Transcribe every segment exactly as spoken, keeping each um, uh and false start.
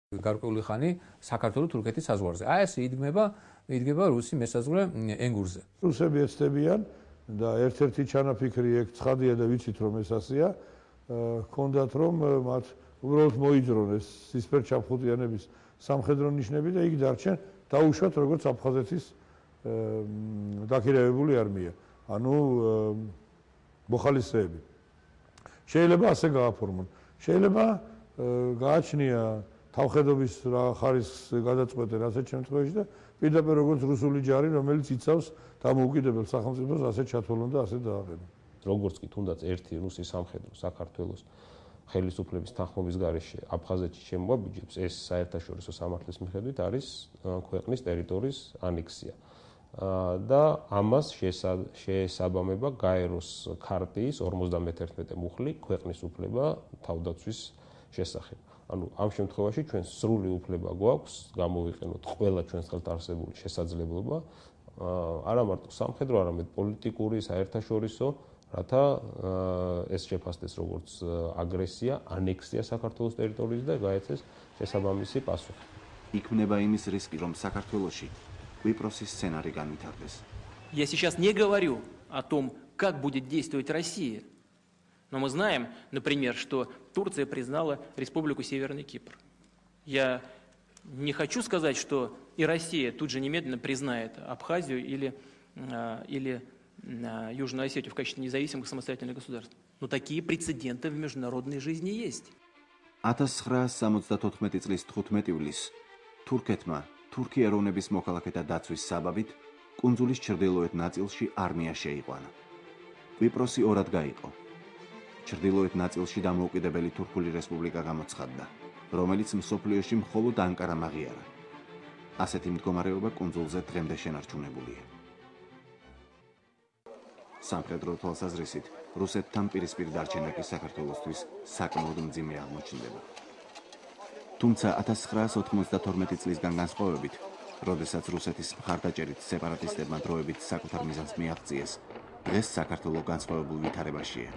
გარკვეული ხანი საქართველო-თურქეთის საზღვარზე. აი ეს იდგმება იდგება რუსი მესაზღვრე ენგურზე. რუსები ეცდებიან და ერთ-ერთი ჩანაფიქრი ეგ ცხადია და ვიცით რომ ეს ასეა, ჰქონდათ რომ მათ უბრალოდ მოიძრონ ეს სისფერჩამხუტიანების სამხედრო ნიშნები და იქ დარჩენ დაუშვათ როგორც აფხაზეთის დაქირავებული არმია, ანუ მოხალისეები. შეიძლება ასე გააფორმონ. შეიძლება გააჩნია თავხედობის რა ხარისხს გადაწყვეტენ ასეთ შემთხვევაში და პირდაპირ როგორც რუსული ჯარი, რომელიც იცავს დამოუკიდებელ სახელმწიფოს ასე ჩათვალონ და ასე დააყენონ. როგორც კი თუნდაც ერთი რუსის სამხედრო საქართველოს ხელისუფლების თანხმობის გარეშე აფხაზეთში შემოაბიჯებს, ეს საერთაშორისო სამართლის მიხედვით არის ქვეყნის ტერიტორიის ანექსია. და ამას შეესაბამება გაეროს ქარტიის ორმოცდამეთერთმეტე მუხლი ქვეყნის უფლება თავდაცვის შესახებ. ანუ ამ შემთხვევაში ჩვენ სრული უფლება გვაქვს გამოვიყენოთ ყველა ჩვენს ხელთ არსებული შესაძლებლობა, არა მარტო სამხედრო, არამედ პოლიტიკური, საერთაშორისო, რათა ეს შეფასდეს როგორც აგრესია, ანექსია საქართველოს ტერიტორიის და გაეცეს შესაბამისი პასუხი. იქმნება იმის რისკი, რომ საქართველოში კვიპროსის სცენარი განვითარდეს. Я сейчас не говорю о том, как будет действовать Россия. Но мы знаем, например, что Турция признала Республику Северный Кипр. Я не хочу сказать, что и Россия тут же немедленно признает Абхазию или, или Южную Осетию в качестве независимых самостоятельных государств. Но такие прецеденты в международной жизни есть. ათას ცხრაასი სამოცდათოთხმეტი წლის თხუთმეტი ივლისს თურქეთმა თურქი ეროვნების მოქალაქეთა დაცვის საბაბით კუნძულის ჩრდილოეთ ნაწილში არმია შეიყვანა. კვიპროსი ორად გაიყო. ჩრდილოეთ ნაწილში დამოუკიდებელი თურქული რესპუბლიკა გამოცხადდა, რომელიც მსოფლიოში მხოლოდ ანკარამ აღიარა. ასეთი მდგომარეობა კუნძულზე დღემდე შენარჩუნებულია. სამხედრო თვალსაზრისით რუსეთთან პირისპირ დარჩენა კი საქართველოსთვის საკმაოდ მძიმე აღმოჩნდება. თუმცა ათას ცხრაასი ოთხმოცდათორმეტი წლისგან განსხვავებით, როდესაც რუსეთის მხარდაჭერით სეპარატისტებმა დროებით საკუთარ მიზანს მიაღწიეს, დღეს საქართველო განსხვავებულ ვითარებაშია.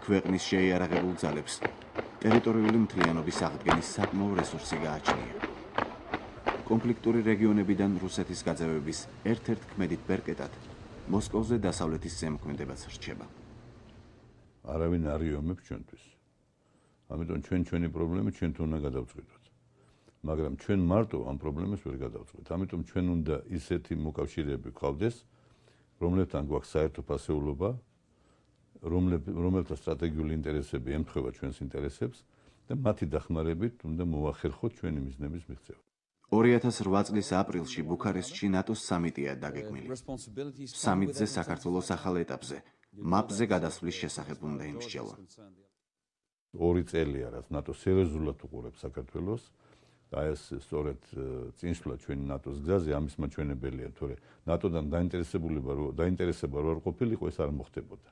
ქვეყნის შეიარაღებულ ძალებს ტერიტორიული მთლიანობის აღდგენის საკმაო რესურსი გააჩნია. კონფლიქტური რეგიონებიდან რუსეთის გაძევების ერთ-ერთ ქმედით ბერკეტად მოსკოვზე დასავლეთის ზემოქმედებაც რჩება. არავინ არ იომებს ჩვენთვის. ამიტომ ჩვენ ჩვენი პრობლემები ჩვენთან უნდა გადავწყვიტოთ. მაგრამ ჩვენ მარტო ამ პრობლემებს ვერ გადავწყვეტ. ამიტომ ჩვენ უნდა ისეთი მოკავშირეები გვყავდეს, რომლებთან გვაქვს საერთო ფასეულობა, რომელთა სტრატეგიული ინტერესები ემთხვევა ჩვენს ინტერესებს და მათი დახმარებით უნდა მოახერხოთ ჩვენი მიზნების მიღწევა. ორი ათას რვა წლის აპრილში ბუქარესტში ნატოს სამიტია დაგეგმილი. სამიტზე საქართველოს ახალ ეტაპზე, მაპზე გადასვლის შესახებ უნდა იმსჯელონ. ორი წელია, რაც ნატო სერიოზულად უყურებს საქართველოს და ეს სწორედ წინსვლა ჩვენი ნატოს გზაზე ამის მაჩვენებელია, თორე ნატოდან დაინტერესებულება დაინტერესება რო არ ყოფილიყო, ეს არ მოხდებოდა.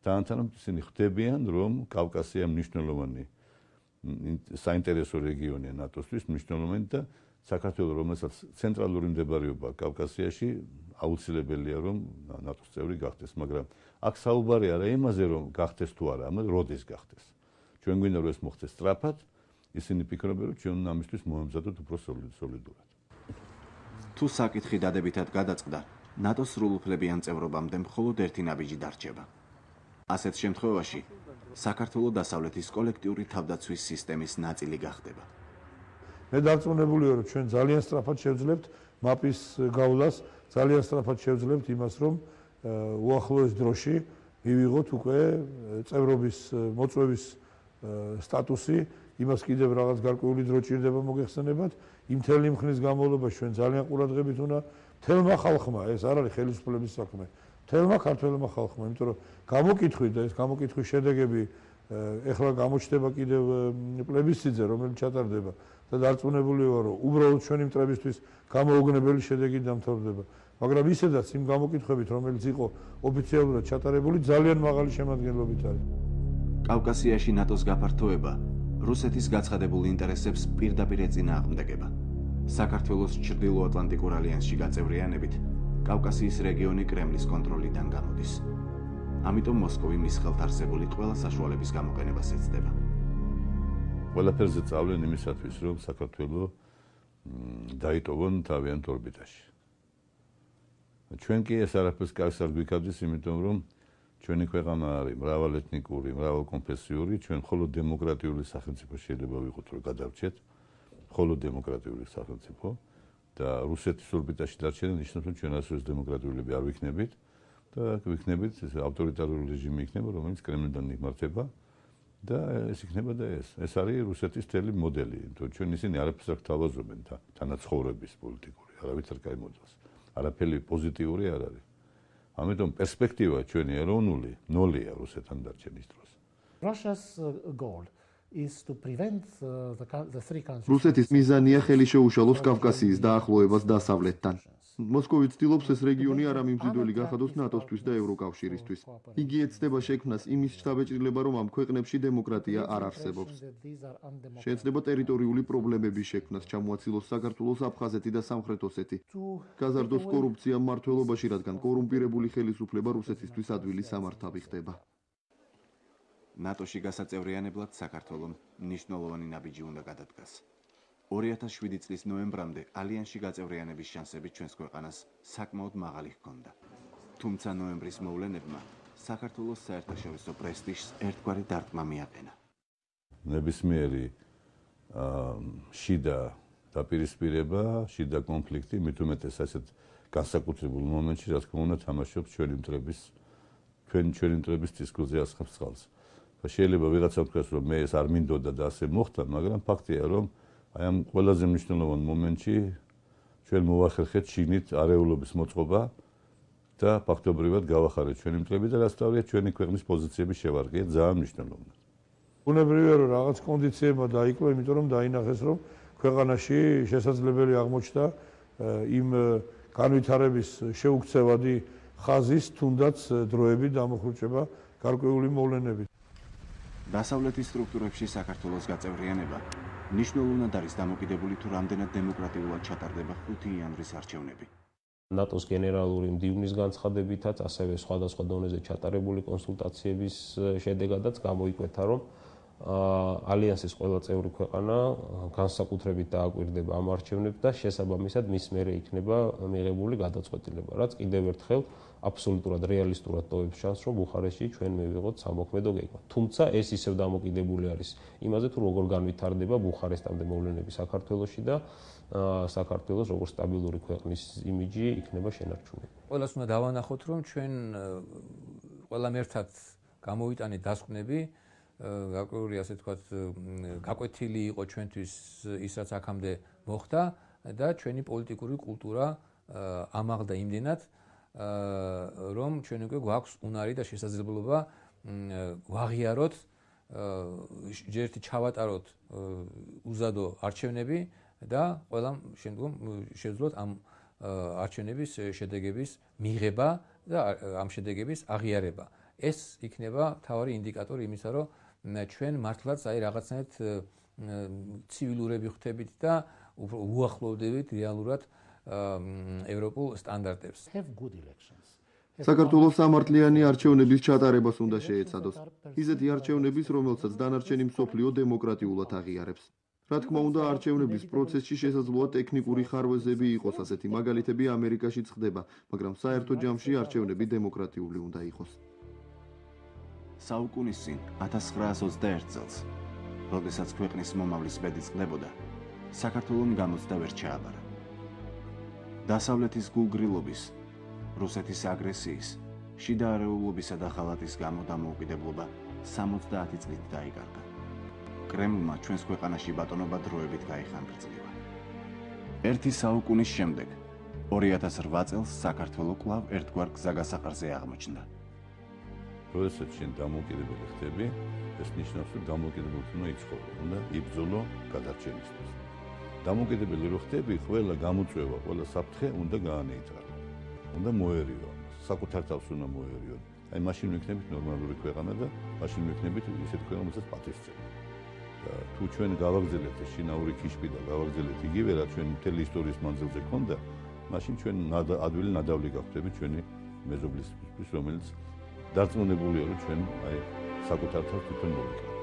თანამედროვე ისინი ხვდებიან, რომ კავკასია მნიშვნელოვანი საინტერესო რეგიონია ნატოსთვის, მნიშვნელოვანი და საქართველოს, რომელსაც ცენტრალური მდებარეობა კავკასიაში, აუცილებელია რომ ნატოს წევრი გახდეს, მაგრამ აქ საუბარი არა იმაზე, რომ გახდეს თუ არა, ამას როდის გახდეს. ჩვენ გვინდა რომ ეს მოხდეს სწრაფად, ისინი ფიქრობენ, რომ ჩვენ ამისთვის მოემზადოთ უფრო სოლიდურად. თუ საკითხი დადებითად გადაწყდა, ნატოს სრულუფლებიან წევრობამდე მხოლოდ ერთი ნაბიჯი დარჩება. ასეთ შემთხვევაში საქართველოს დასავლეთის კოლექტიური თავდაცვის სისტემის ნაწილი გახდება. მე დარწმუნებულია, რომ ჩვენ ძალიან სწრაფად შევძლებთ მაპის გავლას, ძალიან სწრაფად შევძლებთ იმას, რომ უახლოეს დროში მივიღოთ უკვე წევრობის მოწვევის სტატუსი, იმას კიდევ რაღაც გარკვეული დრო ჭირდება მოგეხსენებათ, იმ მთელი მხნის განმავლობაში ჩვენ ძალიან ყურადღებით უნდა მთელმა ხალხმა, ეს არ არის ხელისუფლების საქმე, მთელმა ქართველმა ხალხმა, იმიტომ რომ გამოკითხვით და ეს გამოკითხვის შედეგები ეხლა გამოჩნდება კიდევ პლებისციტზე, რომელიც ჩატარდება და დარწმუნებული ვარ, რომ უბრალოდ ჩვენი მტრებისთვის გამოუგნებელი შედეგი დამთავრდება. მაგრამ ისედაც იმ გამოკითხვებით, რომელიც იყო ოფიციალურად ჩატარებული, ძალიან მაღალი შემადგენლობით არის. კავკასიაში ნატოს გაფართოება რუსეთის გაცხადებულ ინტერესებს პირდაპირ ეწინააღმდეგება. საქართველოს ჩრდილოატლანტიკურ ალიანსში გაწევრიანებით კავკასიის რეგიონი კრემლის კონტროლიდან გამოდის. ამიტომ მოსკოვი მის ხელთ არსებული ყველა საშუალების გამოყენებას ეცდება. ყველაფერზე წავლენ იმისათვის, რომ საქართველოს დაიტოვონ თავიანთ ორბიტაში. ჩვენ კი ეს არაფერს კარგს არ გვიქადებს, იმიტომ რომ ჩვენი ქვეყანა არის მრავალეთნიკური, მრავალკონფესიური, ჩვენ მხოლოდ დემოკრატიული სახელმწიფო შეიძლება ვიყოთ, რომ გადავრჩეთ, მხოლოდ დემოკრატიული სახელმწიფო და რუსეთის ორბიტაში დარჩენა ნიშნავს, რომ ჩვენ ასოც დემოკრატიულები არ ვიქნებით და ვიქნებით ავტორიტარული რეჟიმი იქნება, რომელიც კრემლიდან იმართება და ეს იქნება და ეს. ეს არის რუსეთის თელი მოდელი, იმიტომ ჩვენ ისინი არაფერს არ გთავაზობენ თანაცხოვრების პოლიტიკური, არავითარ კაი მოდელს. არაფერი პოზიტიური არ არის. ამიტომ პერსპექტივა ჩვენი ეროვნული ნოლია რუსეთთან დარჩენის დროს. Russia's goal is to prevent the the three countries. რუსეთის მიზანია ხელი შეუშალოს კავკასიის დაახლოებას დასავლეთთან. მოსკოვი ცდილობს ეს რეგიონი არ ამიმზიდველი გახადოს ნატოსთვის და ევროკავშირისთვის. იგი ეცდება შექმნას იმის შთაბეჭდილება, რომ ამ ქვეყნებში დემოკრატია არ არსებობს. შეეცდება ტერიტორიული პრობლემების შექმნას, ჩამოაცილოს საქართველოს აფხაზეთი და სამხრეთ ოსეთი. გაზარდოს კორუფცია მმართველობაში, რადგან კორუმპირებული ხელისუფლება რუსეთისთვის ადვილი სამართავი ხდება. ნატოში გასაწევრიანებლად საქართველოს მნიშვნელოვანი ნაბიჯი უნდა გადადგას. ორი ათას შვიდი წლის ნოემბრამდე ალიანსში გაწევრიანების შანსები ჩვენს ქვეყანას საკმაოდ მაღალი ჰქონდა. თუმცა ნოემბრის მოვლენებმა საქართველოს საერთაშორისო პრესტიჟს ერთგვარი დარტყმა მიაყენა. ნებისმიერი შიდა დაპირისპირება, შიდა კონფლიქტი, მით უმეტეს ასეთ განსაკუთრებულ მომენტში, რა თქმა უნდა, თამაშობს ჩვენი მტრების ჩვენი ჩვენი მტრების დისკუსია ასხამს წყალს. შეიძლება ვიღაცა ვთქვას, რომ მე ეს არ მინდოდა და ასე მოხდა, მაგრამ ფაქტია, რომ აი ამ ყველაზე მნიშვნელოვან მომენტში ჩვენ მოვახერხეთ შიგნით არეულობის მოწყობა და ფაქტობრივად გავახარეთ ჩვენი მტრები და რასთავია ჩვენი ქვეყნის პოზიციების შევარყია ძალიან მნიშვნელოვანი. უნებრივია რომ რაღაც კონდიციებმა დაიკლო, იმიტომ რომ დაინახეს რომ ქვეყანაში შესაძლებელი აღმოჩნდა იმ განვითარების შეუქცევადი ხაზის თუნდაც დროებით დამოხრუჭება გარკვეული მოვლენებით. დასავლეთის სტრუქტურებში საქართველოს გაწევრიანება ნიშნულოვნად არის დამოკიდებული თუ რამდენად დემოკრატიულად ჩატარდება ხუთი იანვრის არჩევნები. ნატოს გენერალური მდივნის განცხადებითაც, ასევე სხვადასხვა დონეზე ჩატარებული კონსულტაციების შედეგადაც გამოიკვეთა, რომ ალიანსის ყველა წევრი ქვეყანა განსაკუთრებით დააკვირდება ამ არჩევნებს და შესაბამისად მის მერე იქნება მიღებული გადაწყვეტილება, რაც კიდევ ერთხელ აბსოლუტურად რეალისტურად ტოვებს ჩანს, რომ ბუხარესტში ჩვენ მივიღოთ სამოქმედო გეგმა. თუმცა ეს ისევ დამოკიდებული არის იმაზე, თუ როგორ განვითარდება ბუხარესტამდე მოვლენები საქართველოში და საქართველოს როგორც სტაბილური ქვეყნის იმიჯი იქნება შენარჩუნებული. ყველას უნდა დავანახოთ, რომ ჩვენ ყველამ ერთად გამოვიტანეთ დასკვნები, გარკვეული ასე თქვათ გაკვეთილი იყო ჩვენთვის ის რაც აქამდე მოხდა და ჩვენი პოლიტიკური კულტურა ამაღლდა იმდენად რომ ჩვენ უკვე გვაქვს უნარი და შესაძლებლობა ვაღიაროთ ჯერთი ჩავატაროთ უზადო არჩევნები და ყველამ შემდგომ შეძლოთ ამ არჩევნების შედეგების მიღება და ამ შედეგების აღიარება. ეს იქნება მთავარი ინდიკატორი იმისა, რომ ჩვენ მართლაც აი რაღაცნაირად ცივილურები ხდებით და უახლოვდებით რეალურად ევროპულ სტანდარტებს. საქართველოს სამართლიანი არჩევნების ჩატარებას უნდა შეეცადოს. ისეთი არჩევნების, რომელსაც დანარჩენი მსოფლიო დემოკრატიულად აღიარებს. რა თქმა უნდა, არჩევნების პროცესში შესაძლოა ტექნიკური ხარვეზები იყოს, ასეთი მაგალითები ამერიკაშიც ხდება, მაგრამ საერთო ჯამში არჩევნები დემოკრატიული უნდა იყოს. საუკუნის წინ ათას ცხრაას ოცდაერთ წელს, როდესაც ქვეყნის მომავლის ბედი წყდებოდა, საქართველოს გამოცდა ვერ ჩააბარა. დასავლეთის გულგრილობის, რუსეთის აგრესიის, შიდა არეულობისა და ღალატის გამო დამოუკიდებლობა სამოცდაათი წლით დაიკარგა. კრემლმა ჩვენს ქვეყანაში ბატონობა დროებით გაიხანგრძლივა. ერთი საუკუნის შემდეგ, ორი ათას რვა წელს საქართველოს კვლავ ერთგვარ გზაგასაყარზე აღმოჩნდა. როდესაც შენ დამოუკიდებელი ხდები, ეს ნიშნავს, რომ დამოუკიდებლობა უნდა იცხოვრო, უნდა იბრძოლო გადარჩენისთვის. დამოუკიდებელი რო ხდები, ყველა გამოწვევა, ყველა საფრთხე უნდა გაანეიტრალო. უნდა მოერიო, საკუთარ თავს უნდა მოერიო. აი მაშინ ვიქნებით ნორმალური ქვეყანა და მაშინ ვიქნებით ისეთ ქვეყანა, რომელსაც პატივსცემი. და თუ ჩვენ გავაგზავნებთ შინაური ქიშბი და გავაგზავნებთ იგივე, რა ჩვენ მთელი ისტორიის მანძილზე ქონდა, მაშინ ჩვენ ადვილი ნადავლი გავხდებით ჩვენი მეზობლისთვის, რომელიც დარწმუნებულია, რომ ჩვენ აი საკუთარ თავს თვითონ მოვიკავებთ.